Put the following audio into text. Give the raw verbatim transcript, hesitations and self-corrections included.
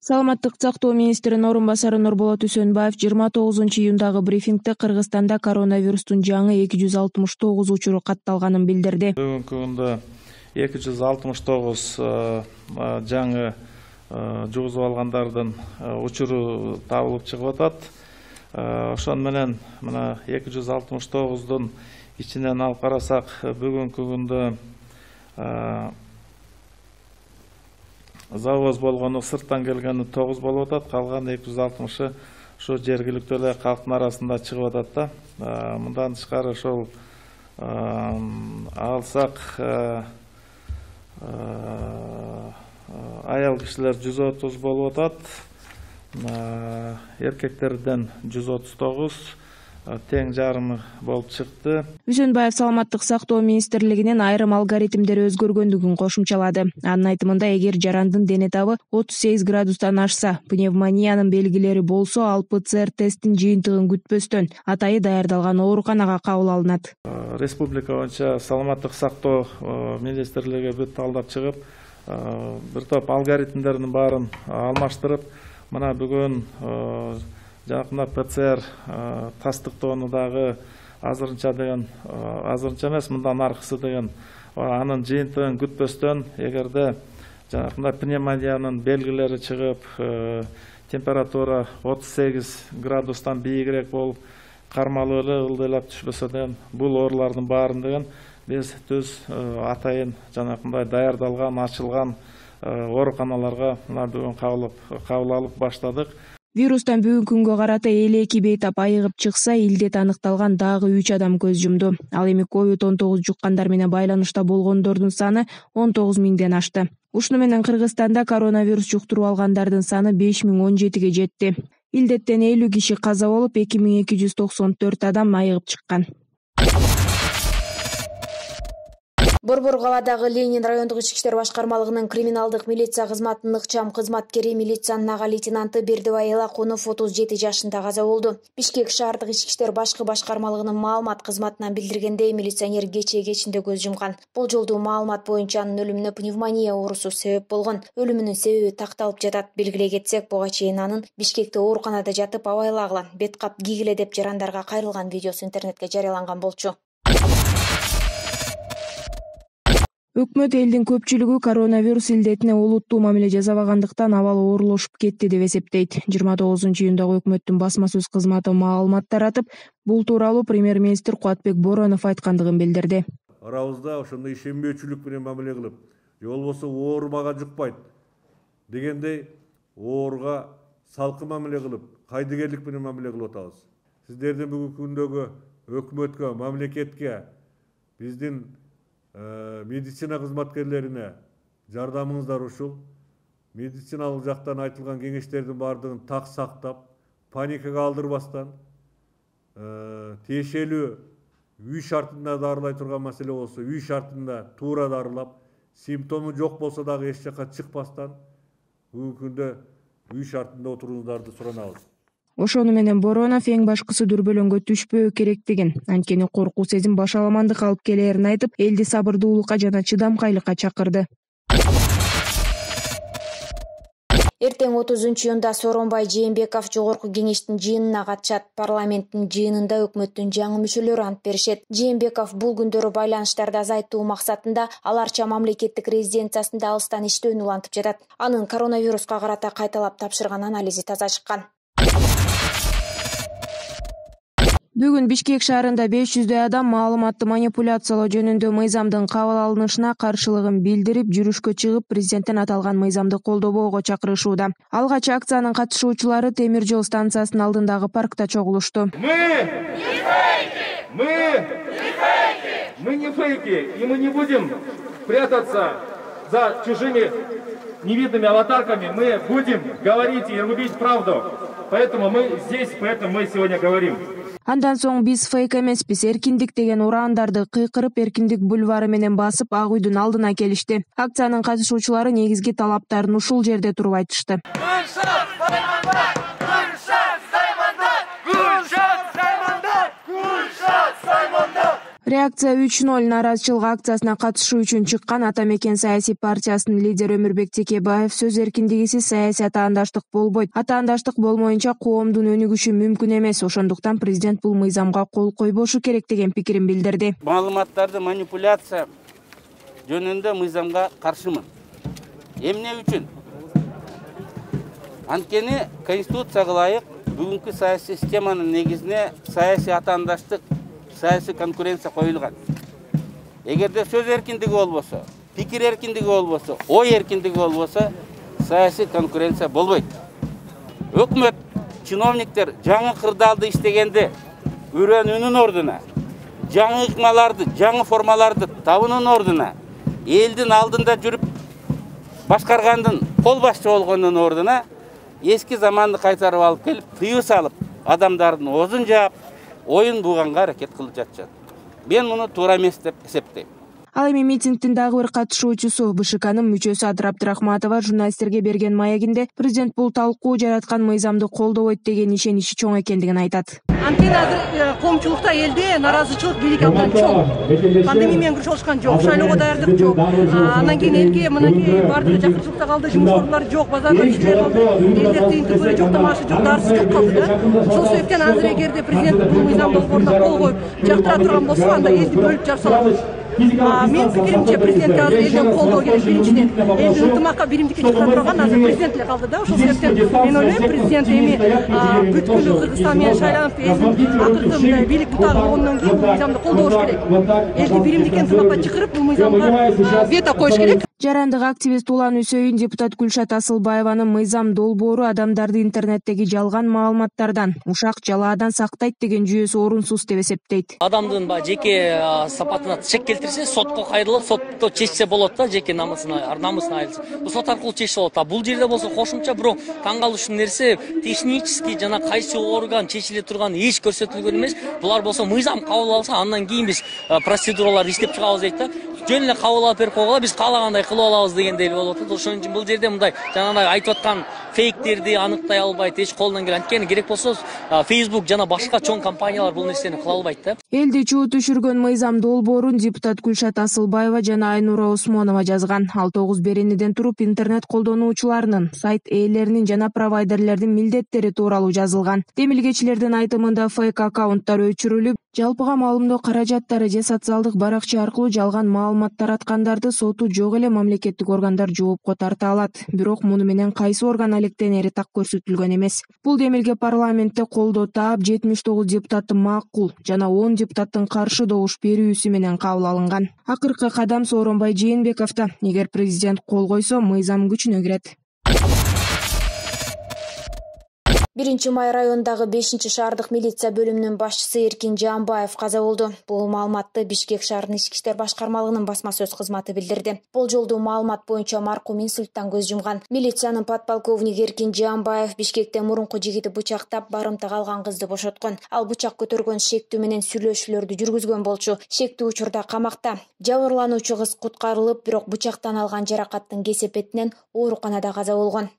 Саламаттык сактоо министринин орун басары Нурболот Үсөнбаев жыйырма тогузунчу июндагы брифингде Кыргызстанда коронавирустун жаңы эки жүз алтымыш тогуз учуру катталганын билдирди. Бүгүнкү күндө эки жүз алтымыш тогуз жаңы жугузуп алгандардын учуру табылып чыгып атат. Ошон менен мына эки жүз алтымыш тогуздун ичинен алып карасак, бүгүнкү күндө завоз болгону, сырттан келгени тогуз болуп атат. Калган эки жүз алтымышы ушу жергиликтүү эле калктын арасында чыгып атат да. Мындан тышкары ошол алсак аял кишилер жүз отуз болуп атат. Эркектерден жүз отуз тогуз, тең жарымы болуп чыкты. Үсөнбаев Саламаттык сактоо министрлигинин айрым алгоритмдери өзгөргөндүгүн кошумчалады. Анын айтымында, эгер жарандын дене табы отуз сегиз градустан ашса, пневмониянын белгилери болсо, ал ПЦР тесттин жыйынтыгын күтпөстөн атайы даярдалган ооруканага кабыл алынат. Республика боюнча Саламаттык сактоо министрлиги бүт талдап чыгып, бир топ алгоритмдердин баарын алмаштырып, мына бүгүн жакында ПЦР тастыктоону дагы азырынча деген, азырынча эмес, мындан аркысы деген анын жыйынтыгын күтпөстөн, эгерде жакында пневмониянын белгилери чыгып, температура отуз сегиз градустан бийигирээк болуп, кармалып эле ылдыйлап түшпөсө деген, бул оорулардын баарын деген биз түз атайын жанакындай даярдалган, ачылган ооруканаларга мына бүгүн кабыл алып баштадык. Вирустан бүгүнкү күнгө карата элүү эки бейтап айыгып чыкса, илдет аныкталган дагы үч адам көз жумду. Ал эми ковид он тогуз жуккандар менен байланышта болгондордун саны он тогуз миңден ашты. Ушуну менен Кыргызстанда коронавирус жуктуруп алгандардын саны беш миң он жетиге жетти. Илдеттен элүү киши каза болуп, эки миң эки жүз токсон төрт адам айыгып чыккан. Борбор калаадагы Ленин райондук ички иштер башкармалыгынын криминалдык милиция кызматынын ыкчам кызматкери милициянын ага лейтенанты Бердибай Элакунов отуз жети жашында каза болду. Бишкек шаардык ички иштер башкы башкармалыгынын маалымат кызматынан билдиргендей, милиционер кечээ кечинде көз жумган. Бул жолдуу маалымат боюнча анын өлүмүнө пневмония оорусу себеп болгон. Өлүмүнүн себеби такталып жатат. Белгилей кетсек, буга чейин анын Бишкекте ооруканада жатып абайлагыла, бет кап кийгиле деп жарандарга кайрылган видеосу интернетке жарыяланган болчу. Өкмөт элдин көпчүлүгү коронавирус илдетине олуттуу мамиле жасабагандыктан абалы оорулошуп кетти деп эсептейт. жыйырма тогузунчу июндагы өкмөттүн басма сөз кызматы маалымат таратып, бул тууралуу премьер-министр Кубатбек Боронов айткандыгын билдирди. Арабызда ошондой ишенбөөчүлүк менен мамиле кылып, же болбосо оорумага жукпайт дегендей ооруга салкын мамиле кылып, кайдыгерлик менен мамиле кылып атабыз. Сиздердин бүгүнкү күндөгү өкмөткө, мамлекетке, биздин медицина кызматкерлерине жардамыңыздар ушул. Медициналык жактан айтылган кеңештердин баардыгын так сактап, паникага алдырбастан, тиешелүү үй шартында дарылай турган маселе болсо, үй шартында туура дарылап, симптому жок болсо дагы эч жакка чыкпастан, бүгүнкү күндө үй шартында отурууңуздарды суранабыз. Ошону менен Боронов эң башкысы дүрбөлөңгө түшпөө керектигин, анткени коркуу сезим башаламандык алып келээрин айтып, элди сабырдуулукка жана чыдамкайлыкка чакырды. Эртең отузунчу июнда Сооронбай Жээнбеков жогорку кеңештин жыйынына катышат. Парламенттин жыйынында өкмөттүн жаңы мүчөлөрү ант беришет. Жээнбеков бул күндөрү байланыштарды азайтуу максатында Аларча мамлекеттик резиденциясында алыстан иштөөнү улантып жатат. Анын коронавируска карата кайталап тапшырган анализи таза чыккан. Бүгүн Бишкек шаарында беш жүздөй адам маалыматты манипуляциялоо жөнүндө мыйзамдын кабыл алынышына каршылыгын билдирип, жүрүшкө чыгып, президенттин аталган мыйзамды колдобоого чакырышууда. Алгач акциянын катышуучулары темир жол станциясынын алдындагы паркта чогулушту. Мы не фейки! Мы не фейки! Мы не фейки! И мы не будем прятаться за чужими невидными аватарками. Мы будем говорить и рубить правду. Поэтому мы здесь, поэтому мы сегодня говорим. Андан соң биз фейк эмеспиз, эркиндик деген ураандарды кыйкырып, Эркиндик бульвары менен басып, Ак үйдүн алдына келишти. Акциянын катышуучулары негизги талаптарын ушул жерде туруп айтышты. Реакция үч ноль нааразычылык акциясына катышуу үчүн чыккан Ата мекен саясий партиясынын лидери Өмүрбек Текебаев сөз эркиндигисиз саясий атаандаштык болбойт. Атаандаштык болмоюнча коомдун өнүгүшү мүмкүн эмес. Ошондуктан президент бул мыйзамга кол койбошу керек деген пикирин билдирди. Маалыматтарды манипуляция жөнүндө мыйзамга каршымын. Эмне үчүн? Анткени Конституцияга ылайык бүгүнкү саясий системанын негизине саясий атаандаштык, саясий конкуренция коюлган. Эгерде сөз эркиндиги болбосо, пикир эркиндиги болбосо, ой эркиндиги болбосо, саясий конкуренция болбойт. Өкмөт, чиновниктер жаңы кырдаалды иштегенде үрөнүүнүн ордуна, жаңы ыкмаларды, жаңы формаларды табуунун ордуна, элдин алдында жүрүп башкаргандын кол башчы болгондун ордуна эски заманды кайтарып алып келип, тыюу салып, адамдардын оозун жаап, оюн буганга аракет кылып жатышат. Мен муну туура эмес деп эсептейм. Ал эми митингдин дагы бир катышуучусу БШКнын мүчөсү Адыр Абдрахматова журналисттерге берген маегинде президент бул талкуу жараткан мыйзамды колдобойт деген ишеничи чоң экендигин айтат. Анткени азыр коомчулукта элде нааразычылык бийлик абдан чоң. Пандемия менен күрөшүп алышкан жок, шайлоого даярдык жок. Анан кийин элге мынакей баардыгы жакырчылыкта калды, жумуш орунлары жок, базарда ишчилер калды, элдер тыйынтыгы жок, тамашы жок, дарысы жок калды да. Ошол себептен азыр эгерде президент бул мыйзам долбооруна кол коюп жактыра турган болсо, анда элди бөлүп жарсалат. Мен пикиримче президентке азыр элден колдоо керек. Биринчиден элдин ынтымакка биримдикке чыккан турган азыр президент эле калды да. Ошол себептен мен ойлойм, президент эми бүткүл Кыргызстан менен шайланып элдин акыркы мындай бийлик бутагы болгондон кийин бул мыйзамды колдош керек. Элди биримдикке ынтымакка чакырып бул мыйзамга вето коюш керек. Жарандык активист Улан Үсөйүн депутат Гүлшат Асылбаеванын мыйзам долбоору адамдарды интернеттеги жалган маалыматтардан, ушак жалаадан сактайт деген жүйөсү орунсуз деп эсептейт. Адамдын жеке сапатына чек келтирсе, сотко кайрылып, сотто чечсе болот да, жеке намысына, намысына айылса. Бул сот аркылуу чечсе болот. А бул жерде болсо кошумча бирок таң калыштуу нерсе, технически жана кайсы орган чечиле турган эч көрсөтүлгөн эмес. Булар болсо мыйзам кабыл алса, андан кийин биз процедураларды иштеп чыгабыз дейт да. Жөн эле кабыл алып берип койгола, биз каалагандай кылып алабыз дегендей болуп атат. Ошон үчүн бул жерде мындай жанагындай айтып аткан фейктерди аныктай албайт, эч колунан келет. Анткени керек болсо Facebook жана башка чоң компаниялар бул нерсени кыла албайт да. Элди чуу түшүргөн мыйзам долбоорун депутат Гүлшат Асылбаева жана Айнура Осмонова жазган. Ал тогуз беренеден туруп интернет колдонуучуларынын, сайт ээлеринин жана провайдерлердин милдеттери тууралуу жазылган. Демилгечилердин айтымында фейк аккаунттар өчүрүлүп, жалпыга маалымдоо каражаттары же социалдык баракча аркылуу жалган маалыматтар аткандарды соту жок эле мамлекеттик органдар жоопко тарта алат. Бирок муну менен кайсы орган алектенери так көрсөтүлгөн эмес. Бул демилге парламентте колдоо таап жетимиш тогуз депутаттын макул жана он депутаттын каршы добуш берүүсү менен кабыл алынган. Акыркы кадам Сооронбай Жээнбековдо. Эгер президент кол койсо, мыйзам күчүнө кирет. биринчи май районундагы бешинчи шаардык милиция бөлүмүнүн башчысы Эркин Жаамбаев каза болду. Бул маалыматты Бишкек шаарынын ички иштер башкармалыгынын басма сөз кызматы билдирди. Болжолдуу маалымат боюнча маркум инсульттан көз жумган. Милициянын подполковниги Эркин Жаамбаев Бишкекте мурунку жигити бычактап, барымта калган кызды бошоткон. Ал бычак көтөргөн шектүү менен сүйлөшүүлөрдү жүргүзгөн болчу. Шектүү учурда камакта. Жабырлануучу кыз куткарылып, бирок бычактан алган жаракаттын кесепетинен ооруканада каза болгон.